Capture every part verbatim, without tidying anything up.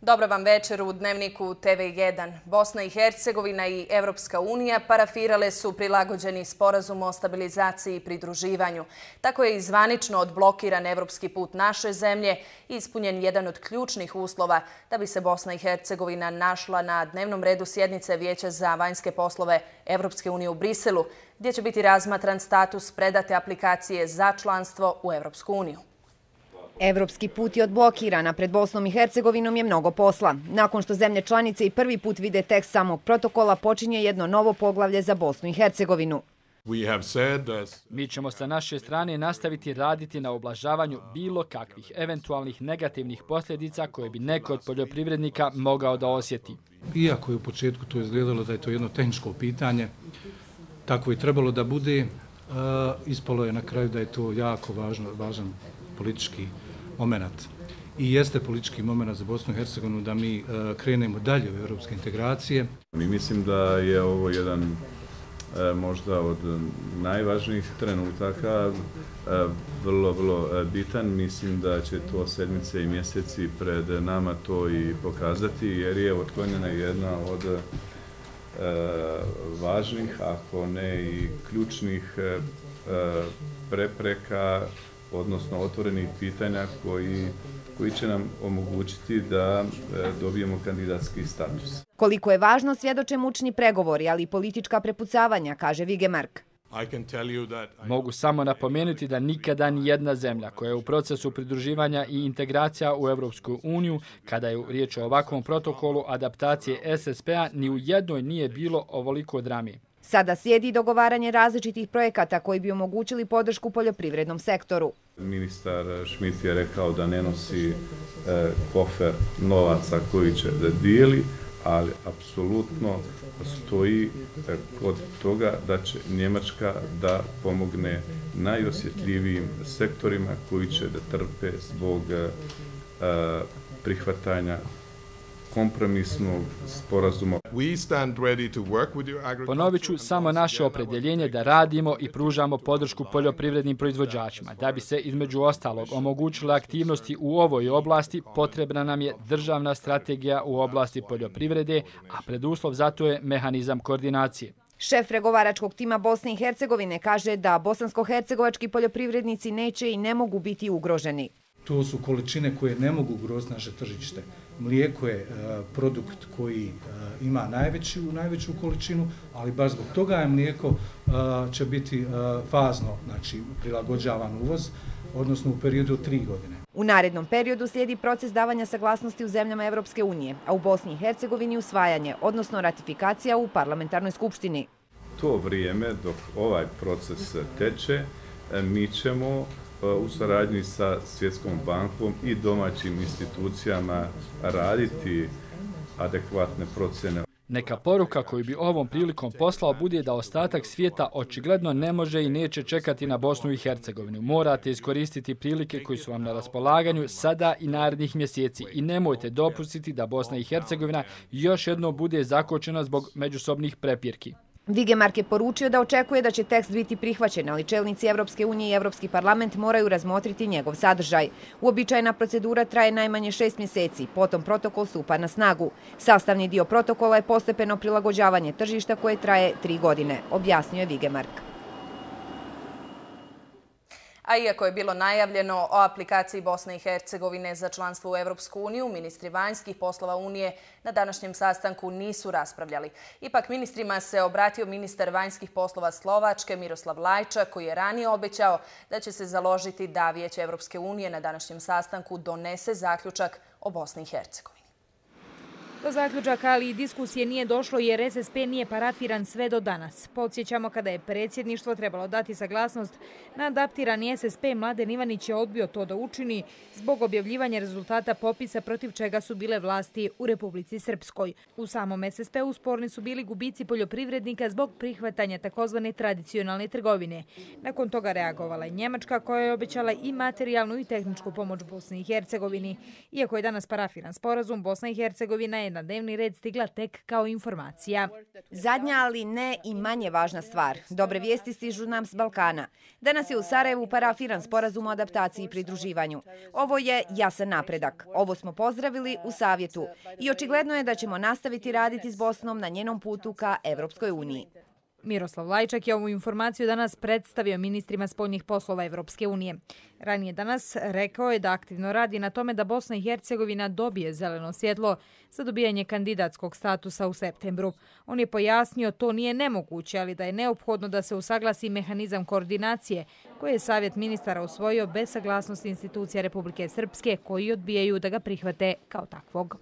Dobro vam večer u Dnevniku T V jedan. Bosna i Hercegovina i Evropska unija parafirale su prilagođeni sporazum o stabilizaciji i pridruživanju. Tako je i zvanično odblokiran evropski put naše zemlje i ispunjen jedan od ključnih uslova da bi se Bosna i Hercegovina našla na dnevnom redu sjednice Vijeća za vanjske poslove Evropske unije u Briselu, gdje će biti razmatran status predate aplikacije za članstvo u Evropsku uniju. Evropski put je odblokiran, a pred Bosnom i Hercegovinom je mnogo posla. Nakon što zemlje članice i prvi put vide tekst samog protokola, počinje jedno novo poglavlje za Bosnu i Hercegovinu. Mi ćemo sa naše strane nastaviti raditi na ublažavanju bilo kakvih eventualnih negativnih posljedica koje bi neko od poljoprivrednika mogao da osjeti. Iako je u početku to izgledalo da je to jedno tehničko pitanje, tako je trebalo da bude, ispalo je na kraju da je to jako važno, važan politički moment. I jeste politički moment za Bosnu i Hercegovinu da mi krenemo dalje u evropske integracije. Mi mislim da je ovo jedan možda od najvažnijih trenutaka, vrlo, vrlo bitan. Mislim da će to sedmice i mjeseci pred nama to i pokazati, jer je otklonjena jedna od važnih, ako ne i ključnih prepreka, odnosno otvorenih pitanja koji, koji će nam omogućiti da dobijemo kandidatski status. Koliko je važno svjedoče mučni pregovori, ali i politička prepucavanja, kaže Vigemark. Mogu samo napomenuti da nikada ni jedna zemlja koja je u procesu pridruživanja i integracija u Evropsku uniju, kada je riječ o ovakvom protokolu adaptacije S S P-a, ni u jednoj nije bilo ovoliko drame. Sada slijedi dogovaranje različitih projekata koji bi omogućili podršku poljoprivrednom sektoru. Ministar Schmidt je rekao da ne nosi kofer novaca koji će da dijeli, ali apsolutno stoji kod toga da će Njemačka da pomogne najosjetljivijim sektorima koji će da trpe zbog prihvatanja kompromisnog sporazuma. Ponovit ću samo naše opredjeljenje da radimo i pružamo podršku poljoprivrednim proizvođačima. Da bi se između ostalog omogućile aktivnosti u ovoj oblasti, potrebna nam je državna strategija u oblasti poljoprivrede, a preduslov za to je mehanizam koordinacije. Šef pregovaračkog tima Bosne i Hercegovine kaže da bosansko-hercegovački poljoprivrednici neće i ne mogu biti ugroženi. To su količine koje ne mogu ugroziti naše tržište. Mlijeko je produkt koji ima najveću, najveću količinu, ali baš zbog toga je mlijeko će biti fazno, znači prilagođavan uvoz, odnosno u periodu od tri godine. U narednom periodu slijedi proces davanja saglasnosti u zemljama Evropske unije, a u Bosni i Hercegovini usvajanje, odnosno ratifikacija u parlamentarnoj skupštini. To vrijeme dok ovaj proces teče, mi ćemo u saradnji sa Svjetskom bankom i domaćim institucijama raditi adekvatne procjene. Neka poruka koju bi ovom prilikom poslao bude da ostatak svijeta očigledno ne može i neće čekati na Bosnu i Hercegovinu. Morate iskoristiti prilike koji su vam na raspolaganju sada i narednih mjeseci i nemojte dopustiti da Bosna i Hercegovina još jednom bude zakočena zbog međusobnih prepirki. Vigemark je poručio da očekuje da će tekst biti prihvaćen, ali čelnici Evropske unije i Evropski parlament moraju razmotriti njegov sadržaj. Uobičajena procedura traje najmanje šest mjeseci, potom protokol stupa na snagu. Sastavni dio protokola je postepeno prilagođavanje tržišta koje traje tri godine, objasnio je Vigemark. A iako je bilo najavljeno o aplikaciji Bosne i Hercegovine za članstvo u Evropsku uniju, ministri vanjskih poslova Unije na današnjem sastanku nisu raspravljali. Ipak ministrima se obratio ministar vanjskih poslova Slovačke Miroslav Lajčak, koji je ranije obećao da će se založiti da Vijeće Evropske unije na današnjem sastanku donese zaključak o Bosni i Hercegovini. Do zaključaka, ali i diskusije nije došlo jer S S P nije parafiran sve do danas. Podsjećamo, kada je predsjedništvo trebalo dati saglasnost na adaptirani S S P, Mladen Ivanić je odbio to da učini zbog objavljivanja rezultata popisa protiv čega su bile vlasti u Republici Srpskoj. U samom S S P-u sporni su bili gubici poljoprivrednika zbog prihvatanja takozvane tradicionalne trgovine. Nakon toga reagovala i Njemačka, koja je obećala i materijalnu i tehničku pomoć Bosni i Hercegovini. Iako je danas parafiran sporazum, Bosna i Hercegovina je na dnevni red stigla tek kao informacija. Zadnja, ali ne i manje važna stvar. Dobre vijesti stižu nam s Balkana. Danas je u Sarajevu parafiran sporazum o adaptaciji i pridruživanju. Ovo je jasan napredak. Ovo smo pozdravili u Savjetu i očigledno je da ćemo nastaviti raditi s Bosnom na njenom putu ka Evropskoj uniji. Miroslav Lajčak je ovu informaciju danas predstavio ministrima spoljnih poslova Evropske unije. Ranije danas rekao je da aktivno radi na tome da Bosna i Hercegovina dobije zeleno svjetlo za dobijanje kandidatskog statusa u septembru. On je pojasnio to nije nemoguće, ali da je neophodno da se usaglasi mehanizam koordinacije koji je Savjet ministara usvojio bez saglasnosti institucija Republike Srpske koji odbijaju da ga prihvate kao takvog.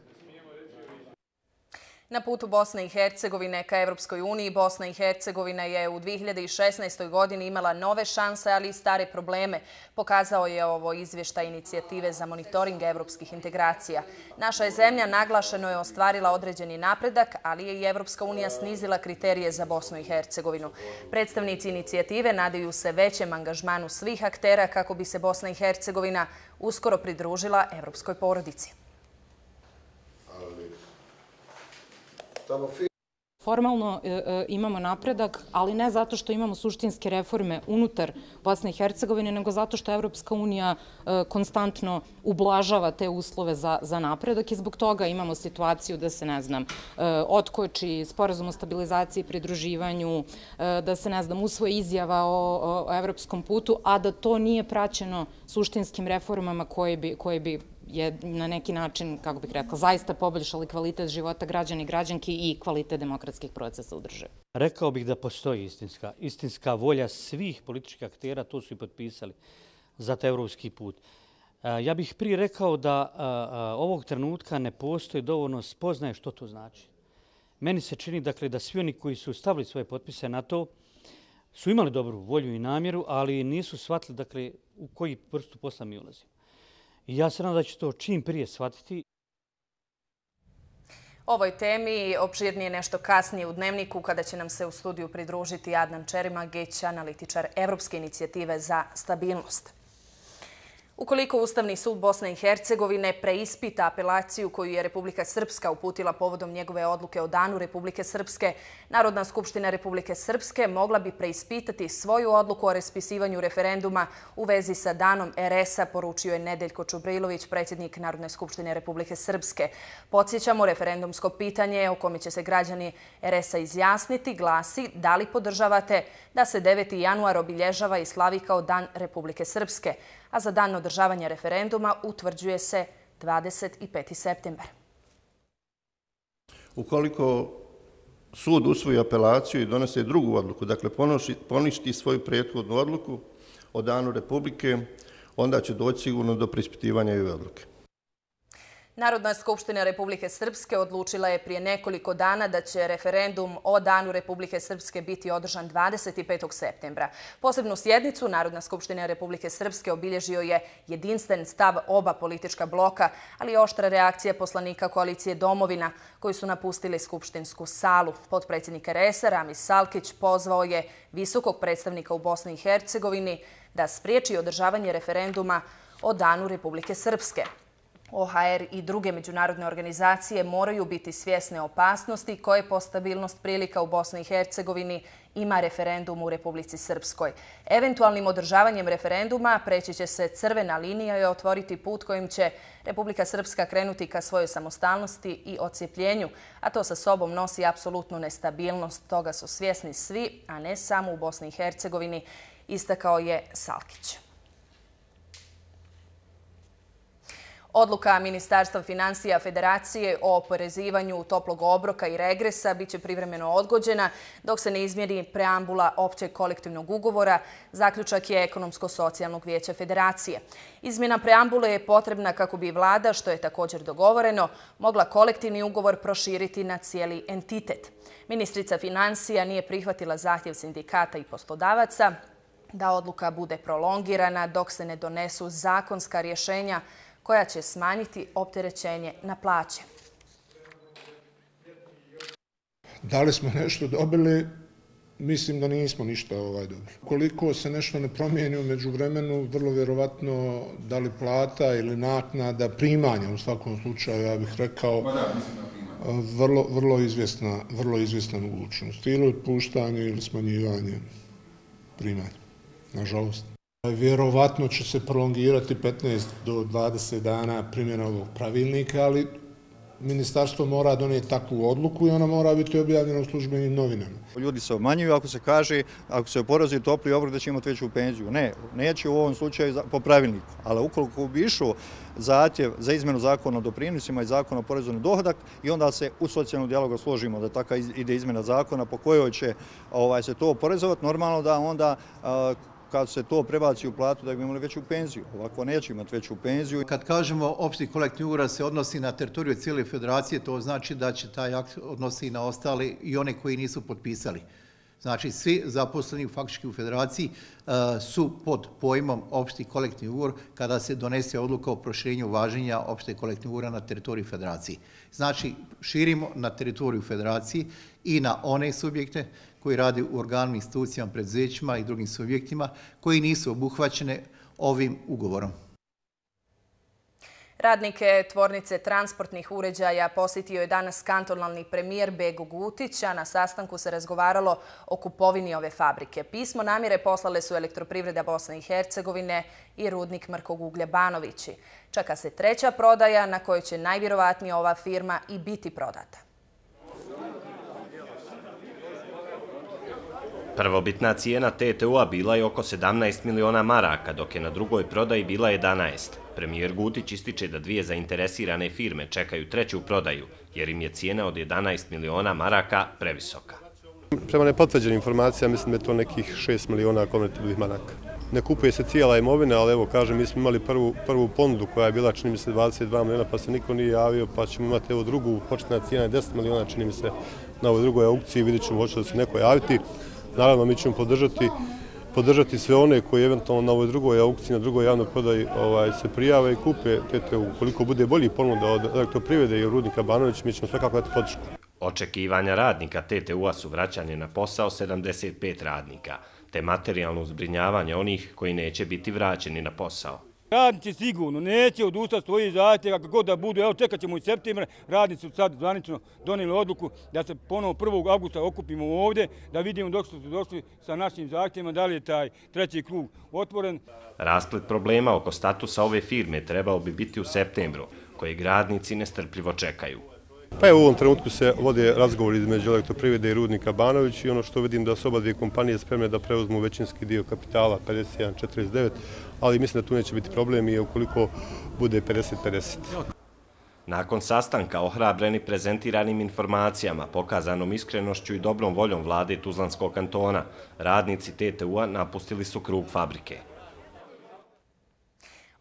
Na putu Bosne i Hercegovine ka Evropskoj uniji, Bosna i Hercegovina je u dvije hiljade šesnaestoj. godini imala nove šanse, ali i stare probleme. Pokazao je ovo izvještaj inicijative za monitoring evropskih integracija. Naša je zemlja naglašeno je ostvarila određeni napredak, ali je i Evropska unija snizila kriterije za Bosnu i Hercegovinu. Predstavnici inicijative nadaju se većem angažmanu svih aktera kako bi se Bosna i Hercegovina uskoro pridružila evropskoj porodici. Formalno e, imamo napredak, ali ne zato što imamo suštinske reforme unutar Bosne i Hercegovine, nego zato što Evropska unija e, konstantno ublažava te uslove za, za napredak i zbog toga imamo situaciju da se, ne znam, e, otkoči sporazum o stabilizaciji i pridruživanju, e, da se, ne znam, usvoji izjava o, o, o evropskom putu, a da to nije praćeno suštinskim reformama koje bi, koje bi je na neki način, kako bih rekla, zaista poboljšali kvalitet života građana i građanki i kvalitet demokratskih procesa u državi. Rekao bih da postoji istinska, istinska volja svih političkih aktera, to su i potpisali za taj evropski put. Ja bih prije rekao da ovog trenutka ne postoji dovoljno spoznaje što to znači. Meni se čini dakle, da svi oni koji su stavili svoje potpise na to su imali dobru volju i namjeru, ali nisu shvatili dakle, u koji vrstu posla mi ulazimo. I ja se nadam da će to čim prije shvatiti. Ovoj temi opširnije nešto kasnije u Dnevniku kada će nam se u studiju pridružiti Adnan Čerimageć, analitičar Evropske inicijative za stabilnost. Ukoliko Ustavni sud Bosne i Hercegovine preispita apelaciju koju je Republika Srpska uputila povodom njegove odluke o Danu Republike Srpske, Narodna skupština Republike Srpske mogla bi preispitati svoju odluku o raspisivanju referenduma u vezi sa Danom er es a, poručio je Nedeljko Čubrilović, predsjednik Narodne skupštine Republike Srpske. Podsjećamo, referendumsko pitanje o kome će se građani er es a izjasniti glasi da li podržavate da se deveti januar obilježava i slavi kao Dan Republike Srpske, a za dan održavanja referenduma utvrđuje se dvadeset peti septembar. Ukoliko sud usvoji apelaciju i donese drugu odluku, dakle poništi svoju prethodnu odluku o Danu Republike, onda će doći sigurno do preispitivanja i ove odluke. Narodna skupština Republike Srpske odlučila je prije nekoliko dana da će referendum o Danu Republike Srpske biti održan dvadeset petog septembra. Posebnu sjednicu Narodna skupština Republike Srpske obilježio je jedinstven stav oba politička bloka, ali i oštra reakcija poslanika koalicije Domovina koji su napustili skupštinsku salu. Potpredsjednik er es a Ramis Salkić pozvao je visokog predstavnika u Bosni i Hercegovini da spriječi održavanje referenduma o Danu Republike Srpske. o ha er i druge međunarodne organizacije moraju biti svjesne opasnosti koje po stabilnost prilika u Bosni i Hercegovini ima referendum u Republici Srpskoj. Eventualnim održavanjem referenduma preći će se crvena linija i otvoriti put kojim će Republika Srpska krenuti ka svojoj samostalnosti i odcijepljenju, a to sa sobom nosi apsolutnu nestabilnost. Toga su svjesni svi, a ne samo u Bosni i Hercegovini, istakao je Salkić. Odluka Ministarstva finansija Federacije o oporezivanju toplog obroka i regresa biće privremeno odgođena dok se ne izmjeri preambula općeg kolektivnog ugovora, zaključak je Ekonomsko-socijalnog vijeća Federacije. Izmjena preambule je potrebna kako bi vlada, što je također dogovoreno, mogla kolektivni ugovor proširiti na cijeli entitet. Ministrica finansija nije prihvatila zahtjev sindikata i poslodavaca da odluka bude prolongirana dok se ne donesu zakonska rješenja koja će smanjiti opterećenje na plaće. Da li smo nešto dobili? Mislim da nismo ništa ovaj dobili. Koliko se nešto ne promijeni u međuvremenu, vrlo vjerovatno da li plata ili naknada, primanja u svakom slučaju, ja bih rekao, vrlo, vrlo, izvjesna, vrlo izvjesna mogućnost. Ili otpuštanje ili smanjivanje primanja, nažalost. Vjerovatno će se prolongirati petnaest do dvadeset dana primjena ovog pravilnika, ali ministarstvo mora donijeti takvu odluku i ona mora biti objavljena u službenim novinama. Ljudi se obmanjuju ako se kaže, ako se oporezuje topli obrok da će imati veću penziju. Ne, neće u ovom slučaju po pravilniku. Ali ukoliko bi išao zahtjev za izmjenu zakona o doprinosima i zakona o porezu na dohodak i onda se u socijalnom dijalogu složimo da taka ide izmjena zakona po kojoj će ovaj, se to oporezovati, normalno da onda kad se to prebaci u platu da bi imali veću penziju. Ovako neće imati veću penziju. Kad kažemo opšti kolektivni ugovor se odnosi na teritoriju cijele federacije, to znači da će taj akt odnosi na ostali i one koji nisu potpisali. Znači, svi zaposleni faktički u federaciji su pod pojmom opšti kolektivni ugovor kada se donese odluka o proširenju važenja opšte kolektivnog ugovora na teritoriju federacije. Znači, širimo na teritoriju federacije i na one subjekte koji rade u organima, institucijama, preduzećima i drugim subjektima koji nisu obuhvaćene ovim ugovorom. Radnike tvornice transportnih uređaja posjetio je danas kantonalni premijer Bego Gutić, a na sastanku se razgovaralo o kupovini ove fabrike. Pismo namjere poslale su Elektroprivreda Bosne i Hercegovine i rudnik mrkog uglja Banovići. Čeka se treća prodaja na kojoj će najvjerovatnije ova firma i biti prodata. Prvobitna cijena T T U-a bila je oko sedamnaest miliona maraka, dok je na drugoj prodaji bila jedanaest. Premijer Gutić ističe da dvije zainteresirane firme čekaju treću prodaju, jer im je cijena od jedanaest miliona maraka previsoka. Prema nepotvrđenim informacijama mislim da je to nekih šest miliona konvertibilnih maraka. Ne kupuje se cijela imovina, ali evo kažem, mi smo imali prvu, prvu ponudu koja je bila, čini mi se, dvadeset dva miliona, pa se niko nije javio, pa ćemo imati evo drugu, početna cijena je deset miliona, čini mi se, na ovoj drugoj aukciji, vidjet ćemo hoće da se neko javiti. Naravno, mi ćemo podržati, podržati sve one koji eventualno na ovoj drugoj aukciji, na drugoj javnoj prodaji ovaj, se prijave i kupe T T U. Koliko bude bolji ponuda od Elektroprivrede i rudnika Banović, mi ćemo svakako dati podršku. Očekivanja radnika T T U-a su vraćanje na posao sedamdeset pet radnika, te materijalno zbrinjavanje onih koji neće biti vraćeni na posao. Radnici sigurno neće odustati svojih zahtjeva kako god da budu. Evo čekat ćemo i septembra. Radnici su sad zvanično donijeli odluku da se ponovo prvog avgusta okupimo ovdje, da vidimo dok su došli sa našim zahtjevima, da li je taj treći krug otvoren. Rasplet problema oko statusa ove firme trebao bi biti u septembru, kojeg radnici nestrpljivo čekaju. Pa evo u ovom trenutku se vode razgovori između Elektroprivrede i rudnika Banović i ono što vidim da su oba dvije kompanije spremne da preuzmu većinski dio kapitala pedeset jedan četrdeset devet, ali mislim da tu neće biti problem i ukoliko bude pedeset pedeset. Nakon sastanka ohrabreni prezentiranim informacijama, pokazanom iskrenošću i dobrom voljom vlade Tuzlanskog kantona, radnici T T U-a napustili su krug fabrike.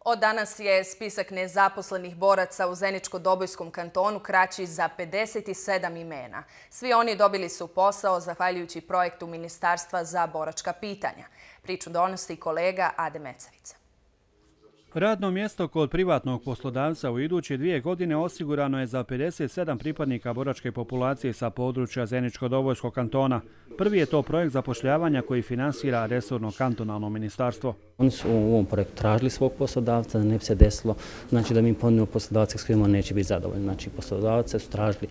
Od danas je spisak nezaposlenih boraca u Zeničko-Dobojskom kantonu kraći za pedeset sedam imena. Svi oni dobili su posao zahvaljujući projektu Ministarstva za boračka pitanja. Priču donosi kolega Ade Mecavica. Radno mjesto kod privatnog poslodavca u iduće dvije godine osigurano je za pedeset sedam pripadnika boračke populacije sa područja Zeničko-Dobojskog kantona. Prvi je to projekt zapošljavanja koji finansira resorno kantonalno ministarstvo. Oni su u ovom projektu tražili svog poslodavca, da ne bi se desilo, znači da mi ponudimo poslodavce s kojima neće biti zadovoljni. Znači poslodavce su tražili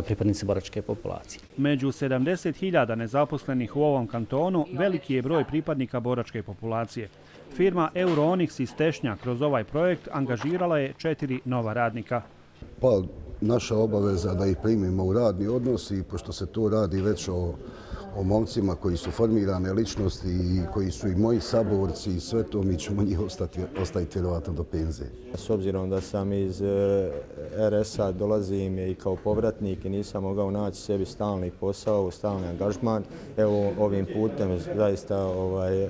pripadnici boračke populacije. Među sedamdeset hiljada nezaposlenih u ovom kantonu veliki je broj pripadnika boračke populacije. Firma Euroonix iz Tešnja kroz ovaj projekt angažirala je četiri nova radnika. Pa naša obaveza da ih primimo u radni odnos i pošto se to radi već o, o momcima koji su formirane ličnosti i koji su i moji saborci i sve to, mi ćemo njih ostati, ostaviti vjerovatno do penzije. S obzirom da sam iz R S-a, dolazim i kao povratnik i nisam mogao naći sebi stalni posao, stalni angažman, evo ovim putem zaista ovaj,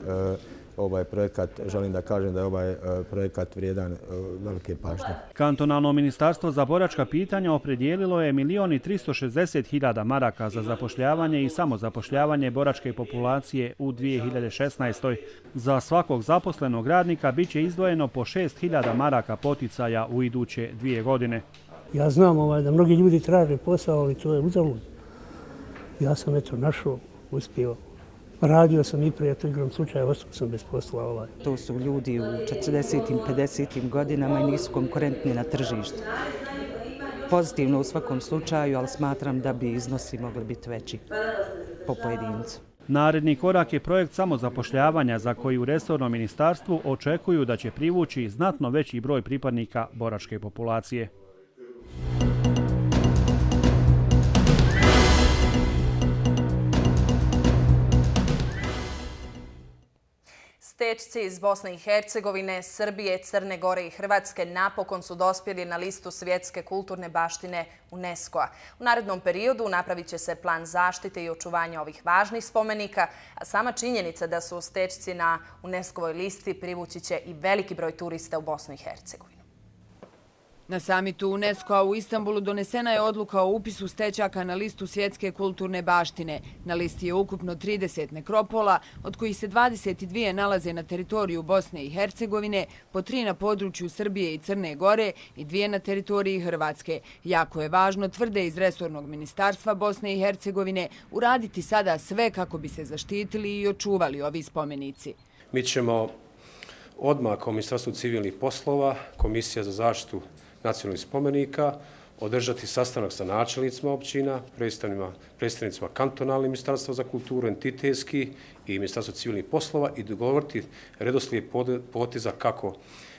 ovaj projekat, želim da kažem da je ovaj projekat vrijedan velike pažnje. Kantonalno ministarstvo za boračka pitanja opredijelilo je milion i tristo šezdeset hiljada maraka za zapošljavanje i samozapošljavanje boračke populacije u dvije hiljade šesnaestoj. Za svakog zaposlenog radnika bit će izdvojeno po šest hiljada maraka poticaja u iduće dvije godine. Ja znam ovaj, da mnogi ljudi traže posao, ali to je uzalud. Ja sam eto našao, uspio. Radio sam i prije, to igram slučaja, ostao sam bez posla. Ovaj. To su ljudi u četrdesetim, pedesetim godinama i nisu konkurentni na tržištu. pozitivno u svakom slučaju, ali smatram da bi iznosi mogli biti veći po pojedincu. Naredni korak je projekt samozapošljavanja za koji u resornom ministarstvu očekuju da će privući znatno veći broj pripadnika boračke populacije. Stečci iz Bosne i Hercegovine, Srbije, Crne Gore i Hrvatske napokon su dospjeli na listu svjetske kulturne baštine UNESCO-a. U narednom periodu napravit će se plan zaštite i očuvanja ovih važnih spomenika, a sama činjenica da su stečci na UNESCO-voj listi privući će i veliki broj turista u Bosnu i Hercegovinu. Na samitu UNESCO-a u Istanbulu donesena je odluka o upisu stečaka na listu svjetske kulturne baštine. Na listi je ukupno trideset nekropola, od kojih se dvadeset dvije nalaze na teritoriju Bosne i Hercegovine, po tri na području Srbije i Crne Gore i dvije na teritoriji Hrvatske. Jako je važno, tvrde iz resornog ministarstva Bosne i Hercegovine, uraditi sada sve kako bi se zaštitili i očuvali ovi spomenici. Mi ćemo odmah kao Ministarstvo civilnih poslova, Komisija za zaštitu nacionalnih spomenika, održati sastanak sa načelnicima općina, predstavnicima kantonalnih ministarstva za kulturu, entitetski i Ministarstvo civilnih poslova i dogovoriti redoslijed poteza kako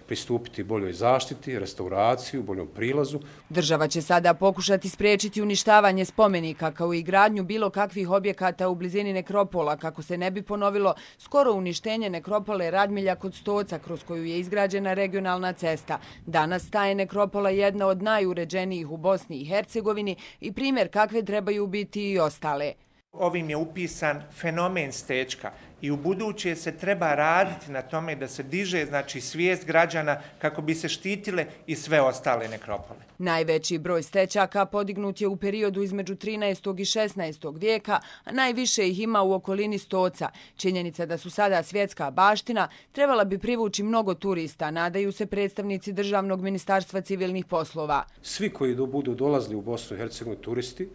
pristupiti boljoj zaštiti, restauraciju, boljom prilazu. Država će sada pokušati spriječiti uništavanje spomenika kao i gradnju bilo kakvih objekata u blizini nekropola kako se ne bi ponovilo skoro uništenje nekropole Radmilja kod Stoca kroz koju je izgrađena regionalna cesta. Danas ta je nekropola jedna od najuređenijih u Bosni i Hercegovini i primjer kakve trebaju biti i ostale. Ovim je upisan fenomen stečka i u buduće se treba raditi na tome da se diže znači svijest građana kako bi se štitile i sve ostale nekropole. Najveći broj stečaka podignut je u periodu između trinaestog i šesnaestog vijeka, a najviše ih ima u okolini Stoca. Činjenica da su sada svjetska baština trebala bi privući mnogo turista, nadaju se predstavnici Državnog ministarstva civilnih poslova. Svi koji budu dolazili u Bosnu i Hercegovinu turisti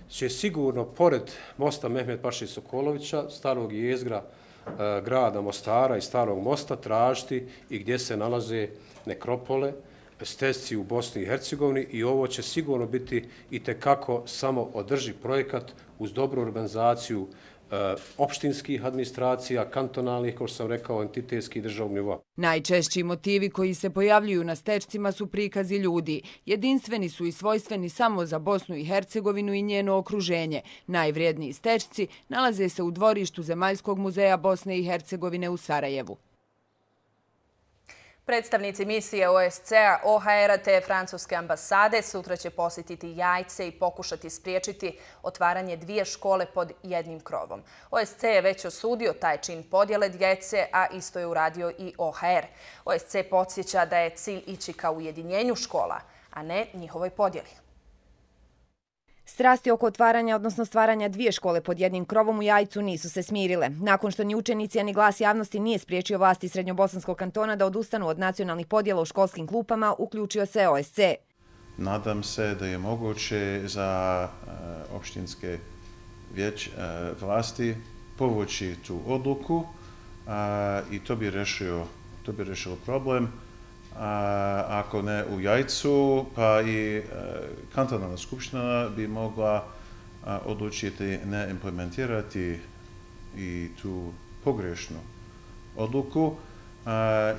će sigurno, pored mosta Mehmet Paše Sokolovića, starog jezgra e, grada Mostara i starog mosta, tražiti i gdje se nalaze nekropole, stečci u Bosni i Hercegovini i ovo će sigurno biti itekako samo održiv projekat uz dobru urbanizaciju e, opštinskih administracija, kantonalnih, kao što sam rekao, entitetskih državnog nivoa. Najčešći motivi koji se pojavljuju na stečcima su prikazi ljudi. Jedinstveni su i svojstveni samo za Bosnu i Hercegovinu i njeno okruženje. Najvrijedniji stečci nalaze se u dvorištu Zemaljskog muzeja Bosne i Hercegovine u Sarajevu. Predstavnici misije O S C A, O H R-a te Francuske ambasade sutra će posjetiti Jajce i pokušati spriječiti otvaranje dvije škole pod jednim krovom. O S C je već osudio taj čin podjele djece, a isto je uradio i O H R. O S C podsjeća da je cilj ići ka ujedinjenju škola, a ne njihovoj podjeli. Strasti oko otvaranja, odnosno stvaranja dvije škole pod jednim krovom u Jajcu nisu se smirile. Nakon što ni učenici, a ni glas javnosti nije spriječio vlasti Srednjobosanskog kantona da odustanu od nacionalnih podjela u školskim klupama, uključio se O S C. Nadam se da je moguće za uh, opštinske vjeć, uh, vlasti povući tu odluku uh, i to bi rešio, to bi rešilo problem. A ako ne u Jajcu, pa i kantonalna skupština bi mogla odlučiti ne implementirati i tu pogrešnu odluku.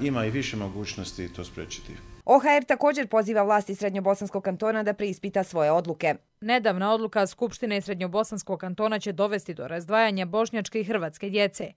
Ima i više mogućnosti to spriječiti. O H R također poziva vlasti Srednjobosanskog kantona da preispita svoje odluke. Nedavna odluka Skupštine Srednjobosanskog kantona će dovesti do razdvajanja bošnjačke i hrvatske djece.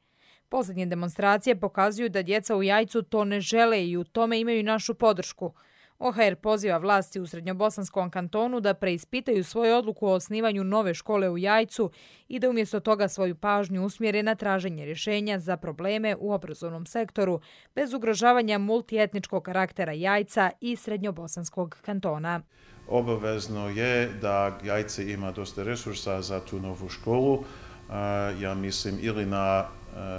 Posljednje demonstracije pokazuju da djeca u Jajcu to ne žele i u tome imaju našu podršku. O H R poziva vlasti u Srednjobosanskom kantonu da preispitaju svoju odluku o osnivanju nove škole u Jajcu i da umjesto toga svoju pažnju usmjere na traženje rješenja za probleme u obrazovnom sektoru bez ugrožavanja multietničkog karaktera Jajca i Srednjobosanskog kantona. Obavezno je da Jajce ima dosta resursa za tu novu školu. Ja mislim ili na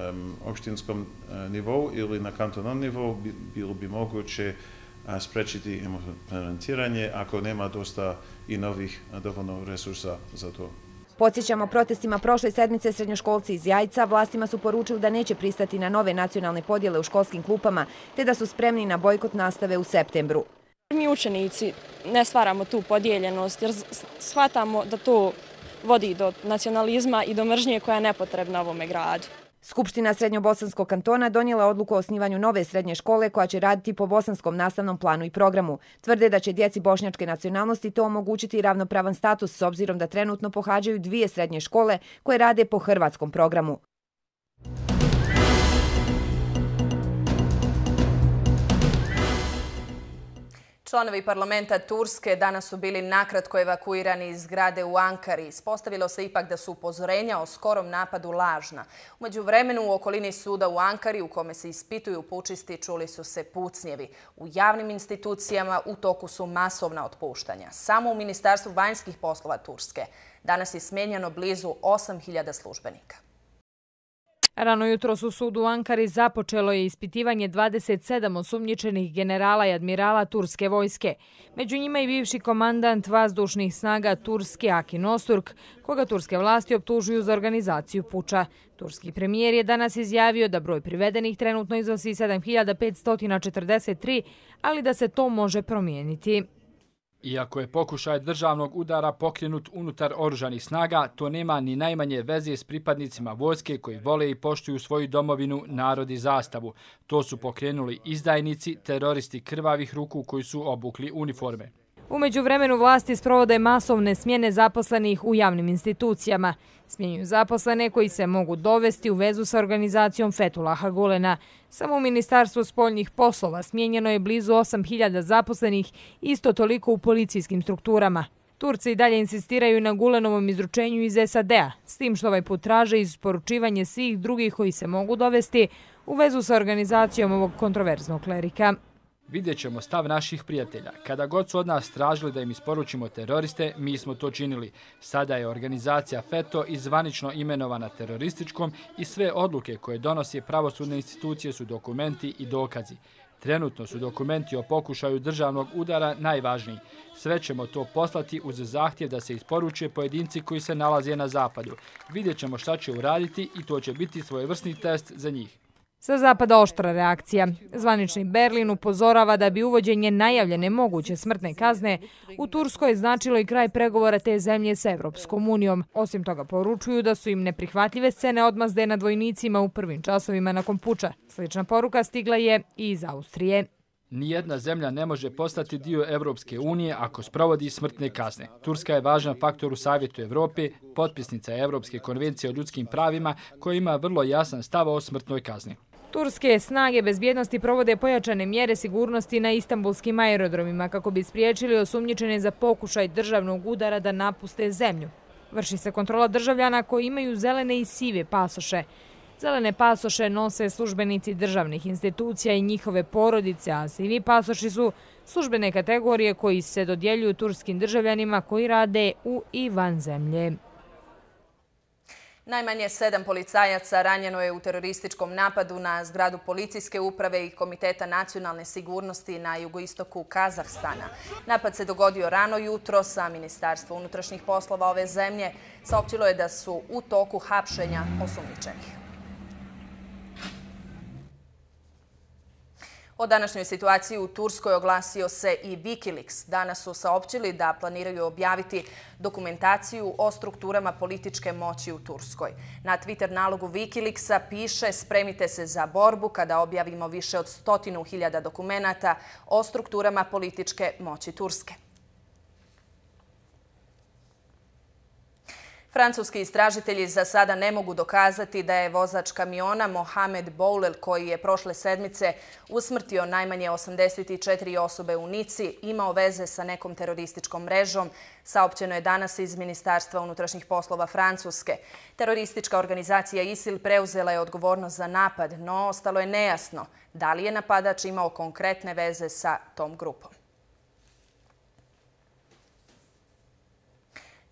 um, opštinskom uh, nivou ili na kantonalnom nivou bi, bilo bi moguće uh, sprečiti implementiranje ako nema dosta i novih uh, dovoljno resursa za to. Podsjećamo, protestima prošle sedmice srednjoškolci iz Jajca vlastima su poručili da neće pristati na nove nacionalne podjele u školskim klupama te da su spremni na bojkot nastave u septembru. Mi učenici ne stvaramo tu podijeljenost jer shvatamo da to vodi do nacionalizma i do mržnje koja je nepotrebna ovome gradu. Skupština Srednjobosanskog kantona donijela odluku o osnivanju nove srednje škole koja će raditi po bosanskom nastavnom planu i programu. Tvrde da će djeci bošnjačke nacionalnosti to omogućiti ravnopravan status s obzirom da trenutno pohađaju dvije srednje škole koje rade po hrvatskom programu. Članovi parlamenta Turske danas su bili nakratko evakuirani iz zgrade u Ankari. Ispostavilo se ipak da su upozorenja o skorom napadu lažna. U međuvremenu u okolini suda u Ankari, u kome se ispituju pučisti, čuli su se pucnjevi. U javnim institucijama u toku su masovna otpuštanja. Samo u Ministarstvu vanjskih poslova Turske danas je smijenjeno blizu osam hiljada službenika. Rano jutros u sudu u Ankari započelo je ispitivanje dvadeset sedam osumnjičenih generala i admirala turske vojske. Među njima i bivši komandant vazdušnih snaga Turske Akin Osurk, koga turske vlasti optužuju za organizaciju puča. Turski premijer je danas izjavio da broj privedenih trenutno iznosi sedam hiljada petsto četrdeset tri, ali da se to može promijeniti. Iako je pokušaj državnog udara pokrenut unutar oružanih snaga, to nema ni najmanje veze s pripadnicima vojske koji vole i poštuju svoju domovinu, narod i zastavu. To su pokrenuli izdajnici, teroristi krvavih ruku koji su obukli uniforme. U međuvremenu vlasti sprovode masovne smjene zaposlenih u javnim institucijama. Smjenjuju zaposlene koji se mogu dovesti u vezu sa organizacijom Fethullaha Gulena. Samo u Ministarstvu spoljnih poslova smjenjeno je blizu osam hiljada zaposlenih, isto toliko u policijskim strukturama. Turci i dalje insistiraju na Gulenovom izručenju iz S A D-a, s tim što ovaj put traže isporučivanje svih drugih koji se mogu dovesti u vezu sa organizacijom ovog kontroverznog klerika. Vidjet ćemo stav naših prijatelja. Kada god su od nas tražili da im isporučimo teroriste, mi smo to činili. Sada je organizacija FETO izvanično imenovana terorističkom i sve odluke koje donose pravosudne institucije su dokumenti i dokazi. Trenutno su dokumenti o pokušaju državnog udara najvažniji. Sve ćemo to poslati uz zahtjev da se isporuče pojedinci koji se nalaze na zapadu. Vidjet ćemo šta će uraditi i to će biti svojevrsni test za njih. Sa zapada oštra reakcija. Zvanični Berlin upozorava da bi uvođenje najavljene moguće smrtne kazne u Turskoj značilo i kraj pregovora te zemlje sa Evropskom unijom. Osim toga poručuju da su im neprihvatljive scene odmazde nad vojnicima u prvim časovima nakon puča. Slična poruka stigla je i iz Austrije. Nijedna zemlja ne može postati dio Evropske unije ako sprovodi smrtne kazne. Turska je važan faktor u Savjetu Evrope, potpisnica Evropske konvencije o ljudskim pravima koja ima vrlo jasan stav o smrtnoj kazni. Turske snage bezbjednosti provode pojačane mjere sigurnosti na istanbulskim aerodromima kako bi spriječili osumnjičene za pokušaj državnog udara da napuste zemlju. Vrši se kontrola državljana koji imaju zelene i sive pasoše. Zelene pasoše nose službenici državnih institucija i njihove porodice, a sivi pasoši su službene kategorije koji se dodjeljuju turskim državljanima koji rade u i van zemlje. Najmanje sedam policajaca ranjeno je u terorističkom napadu na zgradu policijske uprave i Komiteta nacionalne sigurnosti na jugoistoku Kazahstana. Napad se dogodio rano jutro, sa Ministarstvo unutrašnjih poslova ove zemlje saopćilo je da su u toku hapšenja osumnjičenih. O današnjoj situaciji u Turskoj oglasio se i Wikileaks. Danas su saopćili da planiraju objaviti dokumentaciju o strukturama političke moći u Turskoj. Na Twitter nalogu Wikileaksa piše: spremite se za borbu kada objavimo više od stotinu hiljada dokumenata o strukturama političke moći Turske. Francuski istražitelji za sada ne mogu dokazati da je vozač kamiona Mohamed Boulel, koji je prošle sedmice usmrtio najmanje osamdeset četiri osobe u Nici, imao veze sa nekom terorističkom mrežom, saopćeno je danas iz Ministarstva unutrašnjih poslova Francuske. Teroristička organizacija ISIL preuzela je odgovornost za napad, no ostalo je nejasno da li je napadač imao konkretne veze sa tom grupom.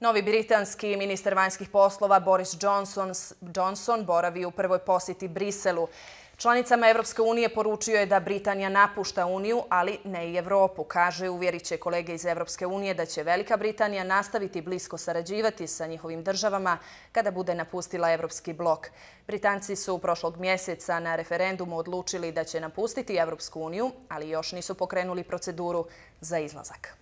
Novi britanski ministar vanjskih poslova Boris Johnson, Johnson boravi u prvoj posjeti Briselu. Članicama Evropske unije poručio je da Britanija napušta Uniju, ali ne i Evropu. Kaže, uvjerit će kolege iz Evropske unije da će Velika Britanija nastaviti blisko sarađivati sa njihovim državama kada bude napustila Evropski blok. Britanci su prošlog mjeseca na referendumu odlučili da će napustiti Evropsku uniju, ali još nisu pokrenuli proceduru za izlazak.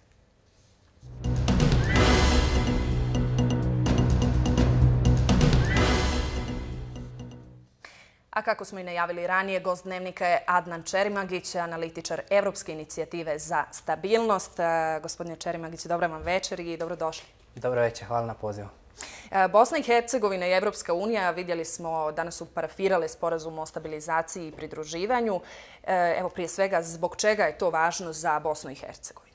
A kako smo i najavili ranije, gost dnevnika je Adnan Čerimagić, analitičar Evropske inicijative za stabilnost. Gospodine Čerimagić, dobra vam večer i dobrodošli. Dobro večer, hvala na pozivu. Bosna i Hercegovina i Evropska unija, vidjeli smo, danas su parafirale sporazum o stabilizaciji i pridruživanju. Evo, prije svega, zbog čega je to važno za Bosnu i Hercegovinu?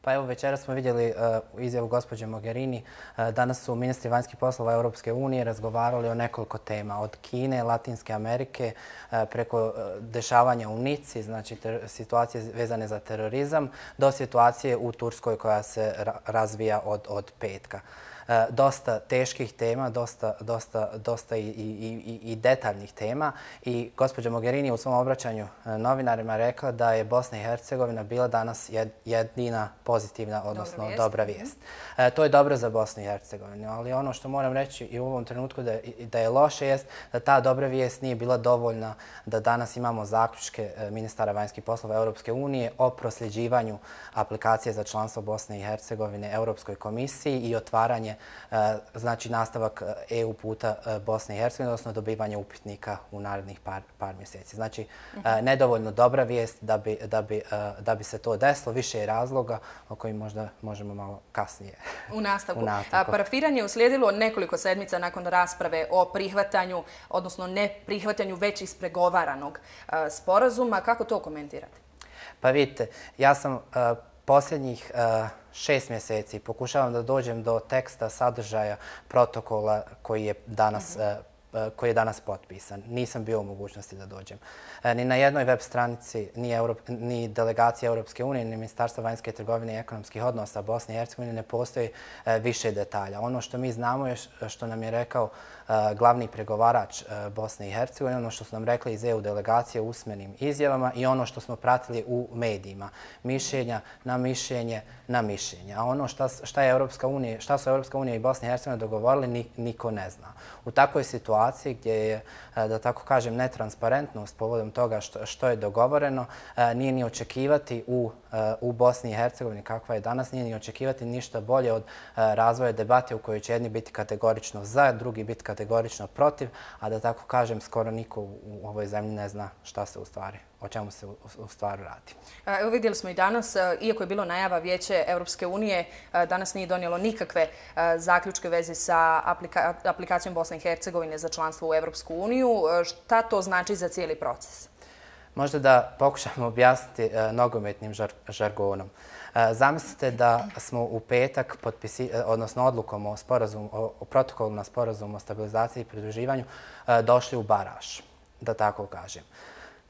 Pa evo, večera smo vidjeli uh, izjavu gospođe Mogherini. Uh, danas su ministri vanjskih poslova Europske unije razgovarali o nekoliko tema. Od Kine, Latinske Amerike, uh, preko uh, dešavanja u Nici, znači situacije vezane za terorizam, do situacije u Turskoj koja se ra razvija od, od petka. E, dosta teških tema, dosta, dosta, dosta i, i, i, i detaljnih tema. I gospođa Mogherini u svom obraćanju novinarima rekla da je Bosna i Hercegovina bila danas jed, jedina pozitivna, odnosno dobra vijest. Dobra vijest. E, to je dobro za Bosnu i Hercegovinu, ali ono što moram reći i u ovom trenutku da, da je loše jest da ta dobra vijest nije bila dovoljna da danas imamo zaključke ministara vanjskih poslova Europske unije o prosljeđivanju aplikacije za članstvo Bosne i Hercegovine Europskoj komisiji i otvaranje znači nastavak E U puta Bosne i Hercegovine, odnosno dobivanje upitnika u narednih par, par mjeseci. Znači, uh-huh. nedovoljno dobra vijest da bi, da, bi, da bi se to desilo, više je razloga o kojim možda možemo malo kasnije. U nastavku. U nastavku. Parafiranje je uslijedilo nekoliko sedmica nakon rasprave o prihvatanju, odnosno ne prihvatanju već ispregovaranog sporazuma. Kako to komentirate? Pa vidite, ja sam uh, posljednjih uh, šest mjeseci pokušavam da dođem do teksta sadržaja protokola koji je danas, uh-huh. uh, koji je danas potpisan. Nisam bio u mogućnosti da dođem. Uh, ni na jednoj web stranici, ni, Europ, ni delegacije Europske unije, ni Ministarstva vanjske trgovine i ekonomskih odnosa Bosne i Hercegovine ne postoji uh, više detalja. Ono što mi znamo je što nam je rekao Uh, glavni pregovarač uh, Bosne i Hercegovine, ono što su nam rekli iz E U delegacije u usmenim izjavama i ono što smo pratili u medijima. Mišljenja na mišljenje na mišljenje. A ono šta, šta, je Europska unija, šta su Europska unija i Bosna i Hercegovina dogovorili, ni, niko ne zna. U takvoj situaciji gdje je, uh, da tako kažem, netransparentnost povodom toga što, što je dogovoreno, uh, nije ni očekivati u, uh, u Bosni i Hercegovini kakva je danas, nije ni očekivati ništa bolje od uh, razvoja debate u kojoj će jedni biti kategorično za, drugi biti kategorično protiv, a da tako kažem, skoro niko u ovoj zemlji ne zna šta se u stvari, o čemu se u, u stvari radi. Evo, vidjeli smo i danas, iako je bilo najava Vijeće Europske unije, danas nije donijelo nikakve zaključke vezi sa aplika, aplikacijom Bosne i Hercegovine za članstvo u Europsku uniju. Šta to znači za cijeli proces? Možda da pokušamo objasniti uh, nogometnim žar, žargonom. Uh, zamislite da smo u petak, potpisi, uh, odnosno odlukom o, sporazum, o, o protokolu na sporazum o stabilizaciji i pridruživanju, uh, došli u baraž, da tako kažem.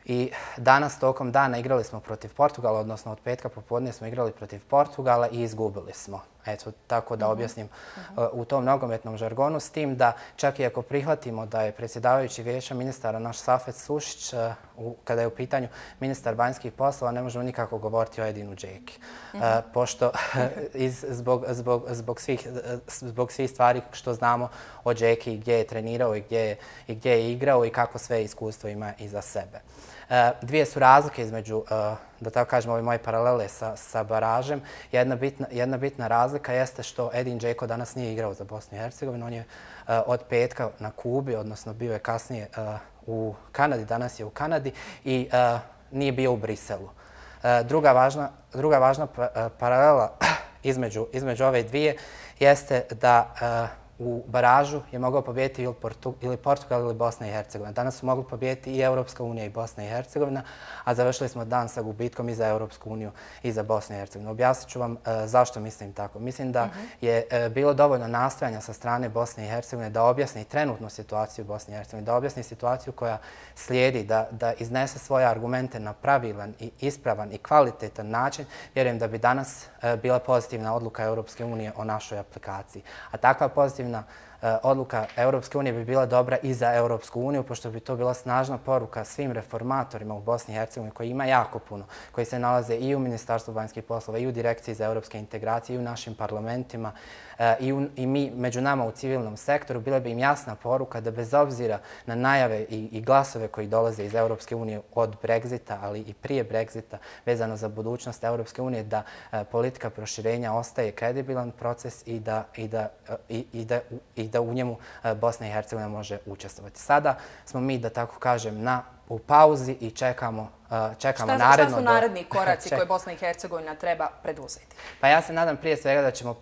I danas tokom dana igrali smo protiv Portugala, odnosno od petka popodne smo igrali protiv Portugala i izgubili smo. Eto, tako da objasnim uh, u tom nogometnom žargonu, s tim da čak i ako prihvatimo da je predsjedavajući vijeća ministara naš Safet Sušić, uh, u, kada je u pitanju ministar vanjskih poslova, ne možemo nikako govoriti o Edinu Džeki. Uh, pošto iz, zbog, zbog, zbog, svih, zbog svih stvari što znamo o Džeki, gdje je trenirao i gdje je, i gdje je igrao i kako sve iskustvo ima iza sebe. Uh, dvije su razlike između, uh, da tako kažem, ove moje paralele sa, sa baražem. Jedna bitna, jedna bitna razlika jeste što Edin Džeko danas nije igrao za Bosnu i Hercegovinu. On je uh, od petka na Kubi, odnosno bio je kasnije uh, u Kanadi, danas je u Kanadi i uh, nije bio u Briselu. Uh, druga važna, druga važna pa, uh, paralela između, između ove dvije jeste da uh, u baražu je mogao pobijediti ili, Portu, ili Portugal ili Bosna i Hercegovina. Danas su mogli pobijediti i Europska unija i Bosna i Hercegovina, a završili smo dan sa gubitkom i za Europsku uniju i za Bosnu i Hercegovinu. Objasnit ću vam uh, zašto mislim tako. Mislim da uh-huh. je uh, bilo dovoljno nastojanja sa strane Bosne i Hercegovine da objasni trenutnu situaciju u Bosni i Hercegovini, da objasni situaciju koja slijedi, da, da iznese svoje argumente na pravilan i ispravan i kvalitetan način. Vjerujem da bi danas uh, bila pozitivna odluka Europske unije o našoj aplikaciji. A takva pozitivna odluka Europske unije bi bila dobra i za Europsku uniju, pošto bi to bila snažna poruka svim reformatorima u Bosni i Hercegovini, koji ima jako puno, koji se nalaze i u Ministarstvu vanjskih poslova, i u Direkciji za europske integracije, i u našim parlamentima, i mi među nama u civilnom sektoru. Bila bi im jasna poruka da bez obzira na najave i glasove koji dolaze iz Europske unije od Brexita, ali i prije Brexita, vezano za budućnost Europske unije, da politika proširenja ostaje kredibilan proces i da, i da, i da, i da u njemu Bosna i Hercegovina može učestvovati. Sada smo mi, da tako kažem, na u pauzi i čekamo, čekamo šta, naredno... Šta su naredni koraci koje Bosna i Hercegovina treba preduzeti? Pa ja se nadam prije svega da ćemo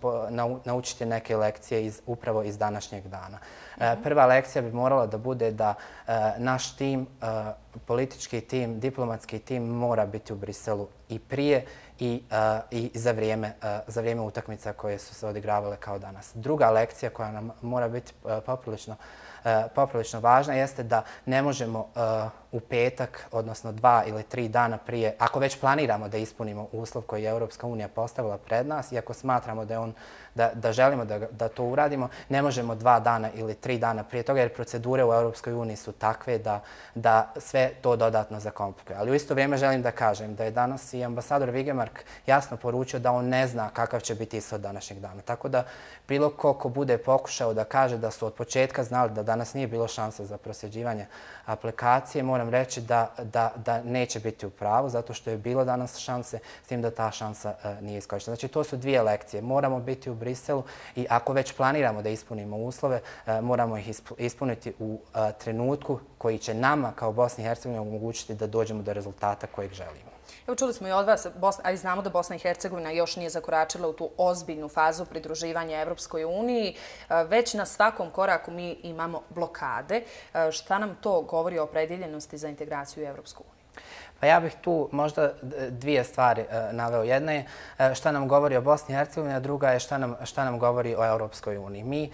naučiti neke lekcije iz, upravo iz današnjeg dana. Prva lekcija bi morala da bude da naš tim, politički tim, diplomatski tim mora biti u Briselu i prije i, i za, vrijeme, za vrijeme utakmica koje su se odigravale kao danas. Druga lekcija koja nam mora biti poprilično poprilično važna jeste da ne možemo u petak, odnosno dva ili tri dana prije, ako već planiramo da ispunimo uslov koji je Europska unija postavila pred nas i ako smatramo da, je on, da, da želimo da, da to uradimo, ne možemo dva dana ili tri dana prije toga, jer procedure u Europskoj uniji su takve da, da sve to dodatno zakomplikuje. Ali u isto vrijeme želim da kažem da je danas i ambasador Vigemark jasno poručio da on ne zna kakav će biti ishod današnjeg dana. Tako da bilo ko ko bude pokušao da kaže da su od početka znali da danas nije bilo šanse za prosljeđivanje aplikacije, moram reći da, da, da neće biti u pravu, zato što je bilo danas šanse, s tim da ta šansa uh, nije iskorištena. Znači, to su dvije lekcije. Moramo biti u Briselu i ako već planiramo da ispunimo uslove, uh, moramo ih ispuniti u uh, trenutku koji će nama kao Bosni i Hercegovini omogućiti da dođemo do rezultata kojeg želimo. Evo, čuli smo i od vas, Bosna, ali znamo da Bosna i Hercegovina još nije zakoračila u tu ozbiljnu fazu pridruživanja Evropskoj uniji. Već na svakom koraku mi imamo blokade. Šta nam to govori o opredjeljenosti za integraciju u Evropsku uniju? Pa ja bih tu možda dvije stvari naveo. Jedna je šta nam govori o Bosni i Hercegovini, a druga je šta nam, šta nam govori o Evropskoj uniji. Mi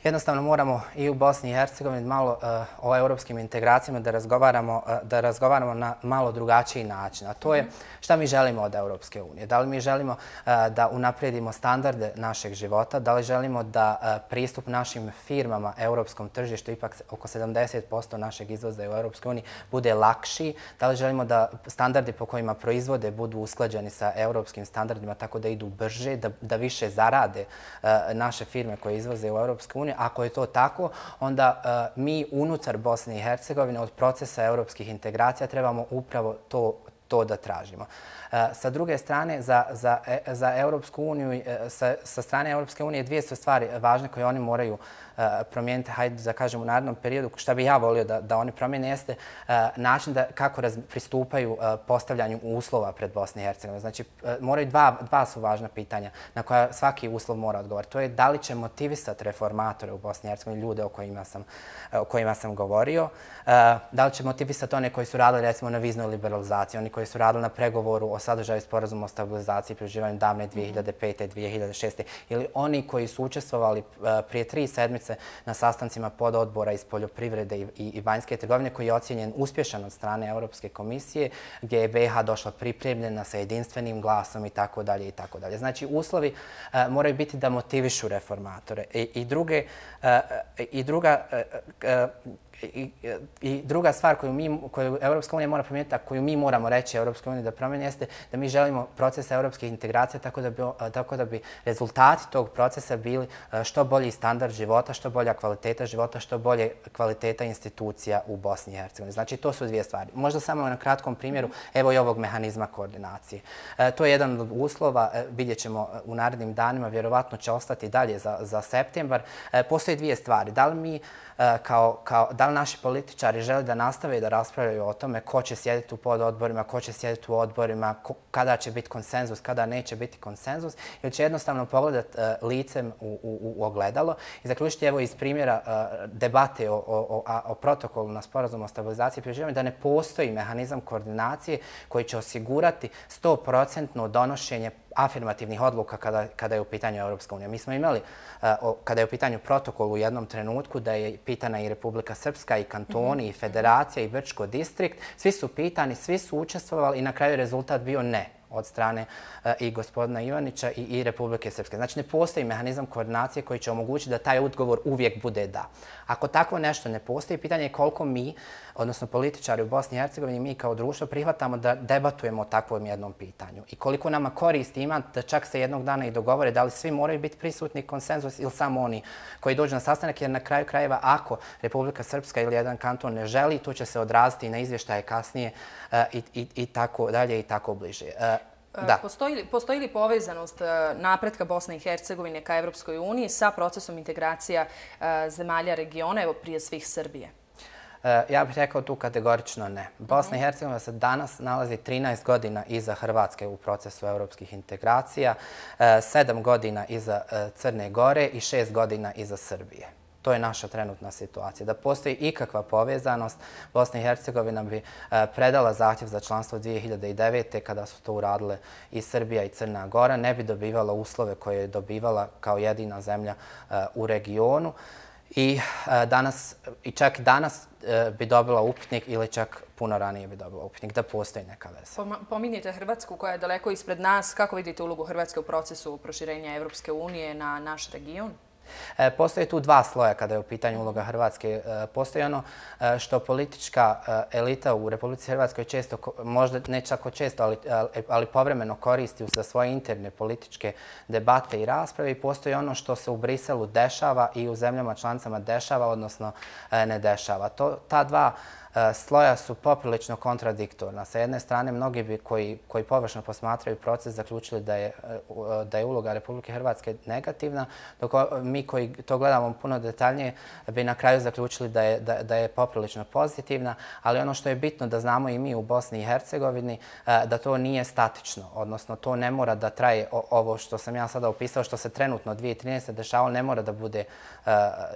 jednostavno moramo i u Bosni i Hercegovini malo uh, o europskim integracijama da razgovaramo, uh, da razgovaramo na malo drugačiji način. A to je šta mi želimo od Europske unije. Da li mi želimo uh, da unaprijedimo standarde našeg života, da li želimo da uh, pristup našim firmama europskom tržištu, ipak oko sedamdeset posto našeg izvoza u Europskoj uniji, bude lakši, da li želimo da standardi po kojima proizvode budu usklađeni sa europskim standardima tako da idu brže, da, da više zarade uh, naše firme koje izvoze u Europsku uniju. Ako je to tako, onda uh, mi unutar Bosne i Hercegovine od procesa europskih integracija trebamo upravo to, to da tražimo. Uh, sa druge strane, za, za, za Europsku uniju, uh, sa, sa strane Europske unije dvije su stvari važne koje oni moraju uh, promijeniti, hajde da kažem u narednom periodu. Šta bi ja volio da, da oni promijene jeste uh, način da, kako raz, pristupaju uh, postavljanju uslova pred Bosne i Hercegovine. Znači, uh, moraju dva, dva su važna pitanja na koja svaki uslov mora odgovoriti. To je da li će motivisati reformatore u Bosni i Hercegovini, ljude o kojima sam, o kojima sam govorio, uh, da li će motivisati one koji su radili recimo na viznoj liberalizaciji, oni koji su radili na pregovoru o sadržaju sporazuma o stabilizaciji i pridruživanju davne dvije hiljade pete. dvije hiljade šeste. ili oni koji su učestvovali uh, prije tri sedmice na sastancima pododbora iz poljoprivrede i, i, i vanjske trgovine koji je ocijenjen uspješan od strane Europske komisije, gdje je B iH došla pripremljena sa jedinstvenim glasom i tako dalje i tako dalje. Znači, uslovi uh, moraju biti da motivišu reformatore. I, i, druge, uh, i druga uh, uh, I, I druga stvar koju, mi, koju Europska unija mora promijeniti, a koju mi moramo reći Europskoj uniji da promijeni, jeste da mi želimo proces europskih integracija tako da, bi, tako da bi rezultati tog procesa bili što bolji standard života, što bolja kvaliteta života, što bolje kvaliteta institucija u Bosni i Hercegovini. Znači, to su dvije stvari. Možda samo na kratkom primjeru, evo i ovog mehanizma koordinacije. E, to je jedan od uslova, e, vidjet ćemo u narednim danima, vjerovatno će ostati dalje za, za septembar. E, postoje dvije stvari. Da li mi Kao, kao, da li naši političari žele da nastave da raspravljaju o tome ko će sjediti u pododborima, ko će sjediti u odborima, ko, kada će biti konsenzus, kada neće biti konsenzus, ili će jednostavno pogledati uh, licem u, u, u ogledalo i zaključiti evo iz primjera uh, debate o, o, o, o protokolu na sporazumu o stabilizaciji i pridruživanju da ne postoji mehanizam koordinacije koji će osigurati sto posto donošenje afirmativnih odluka kada, kada je u pitanju Europska unija. Mi smo imali, uh, o, kada je u pitanju protokol u jednom trenutku, da je pitana i Republika Srpska, i kantoni, mm-hmm. i federacija, i Brčko distrikt. Svi su pitani, svi su učestvovali i na kraju rezultat bio ne. od strane i gospodina Ivanića i Republike Srpske. Znači ne postoji mehanizam koordinacije koji će omogućiti da taj odgovor uvijek bude da. Ako takvo nešto ne postoji, pitanje je koliko mi, odnosno političari u Bosni i Hercegovini, mi kao društvo prihvatamo da debatujemo o takvom jednom pitanju i koliko nama koristi ima da čak se jednog dana i dogovore da li svi moraju biti prisutni konsenzus ili samo oni koji dođu na sastanak, jer na kraju krajeva ako Republika Srpska ili jedan kanton ne želi, to će se odraziti na izvještaje kasnije i, i, i tako dalje i tako bliže. Da. Postoji, postoji li povezanost napretka Bosne i Hercegovine ka Evropskoj uniji sa procesom integracija zemalja regiona, evo prije svih Srbije? Ja bih rekao tu kategorično ne. Bosna i Hercegovina se danas nalazi trinaest godina iza Hrvatske u procesu evropskih integracija, sedam godina iza Crne Gore i šest godina iza Srbije. To je naša trenutna situacija. Da postoji ikakva povezanost, Bosna i Hercegovina bi predala zahtjev za članstvo dvije hiljade devete. kada su to uradile i Srbija i Crna Gora, ne bi dobivala uslove koje je dobivala kao jedina zemlja u regionu. I, danas, i čak danas bi dobila upitnik ili čak puno ranije bi dobila upitnik, da postoji neka veza. Pominjete Hrvatsku koja je daleko ispred nas. Kako vidite ulogu Hrvatske u procesu proširenja Evropske unije na naš region? Postoje tu dva sloja kada je u pitanju uloga Hrvatske. Postoji ono što politička elita u Republici Hrvatskoj često, možda ne čako često, ali, ali povremeno koristi za svoje interne političke debate i rasprave, i postoji ono što se u Briselu dešava i u zemljama članicama dešava, odnosno ne dešava. To, ta dva sloja su poprilično kontradiktorna. Sa jedne strane, mnogi bi koji, koji površno posmatraju proces zaključili da je, da je uloga Republike Hrvatske negativna, dok mi koji to gledamo puno detaljnije bi na kraju zaključili da je, da, da je poprilično pozitivna, ali ono što je bitno da znamo i mi u Bosni i Hercegovini, da to nije statično, odnosno to ne mora da traje ovo što sam ja sada opisao, što se trenutno dvije hiljade trinaeste. dešavalo, ne mora da bude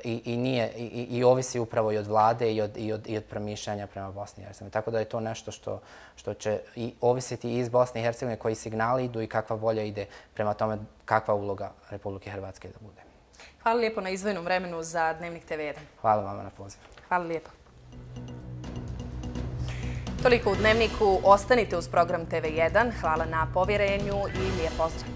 i, i, nije, i, i ovisi upravo i od vlade i od, i od, i od promišljanja prema Bosni i Hercegovini. Tako da je to nešto što, što će i ovisiti i iz Bosne i Hercegovine, koji signali idu i kakva volja ide prema tome kakva uloga Republike Hrvatske da bude. Hvala lijepo na izdvojenom vremenu za Dnevnik te ve jedan. Hvala vama na pozivu. Hvala lijepo. Toliko u Dnevniku. Ostanite uz program te ve jedan. Hvala na povjerenju i lijep pozdrav.